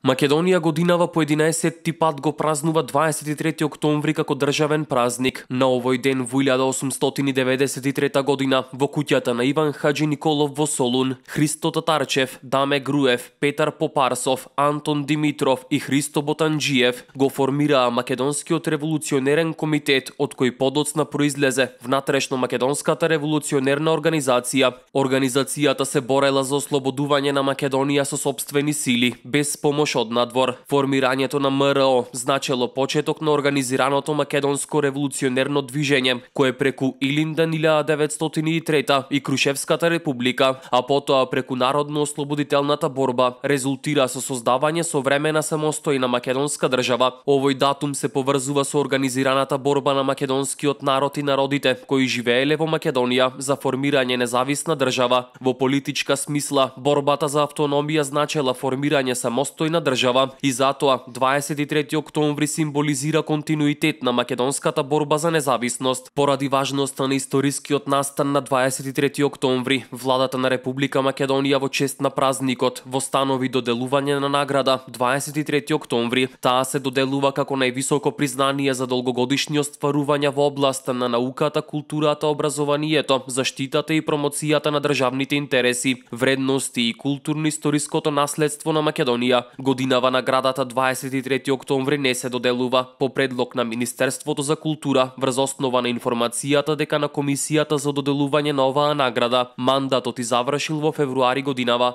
Македонија годинава по 11-ти пат го празнува 23 октомври како државен празник. На овој ден во 1893 година во куќата на Иван Хаџи Николов во Солун, Христо Татарчев, Даме Груев, Петар Попарсов, Антон Димитров и Христо Ботанџиев го формираа Македонскиот револуционерен комитет, од кој подоцна произлезе внатрешно Македонската револуционерна организација. Организацијата се борела за ослободување на Македонија со сопствени сили, без помош од надвор. Формирањето на МРО значело почеток на организираното македонско револуционерно движење, кое преку Илиндан 1903 и Крушевската република, а потоа преку народно-ослободителната борба, резултира со создавање современа самостојна македонска држава. Овој датум се поврзува со организираната борба на македонскиот народ и народите кои живееле во Македонија за формирање независна држава. Во политичка смисла, борбата за автономија значела формирање самостојна држава и затоа 23 октомври символизира континуитет на македонската борба за независност. Поради важноста на историскиот настан на 23 октомври, владата на Република Македонија во чест на празникот востанови доделување на награда 23 октомври. Таа се доделува како највисоко признание за долгогодишни остварувања во областа на науката, културата, образованието, заштитата и промоцијата на државните интереси, вредности и културно-историското наследство на Македонија. Годинава наградата 23 октомври не се доделува по предлог на Министерството за култура врз основа на информацијата дека на комисијата за доделување на оваа награда мандатот и завршил во февруари годинава.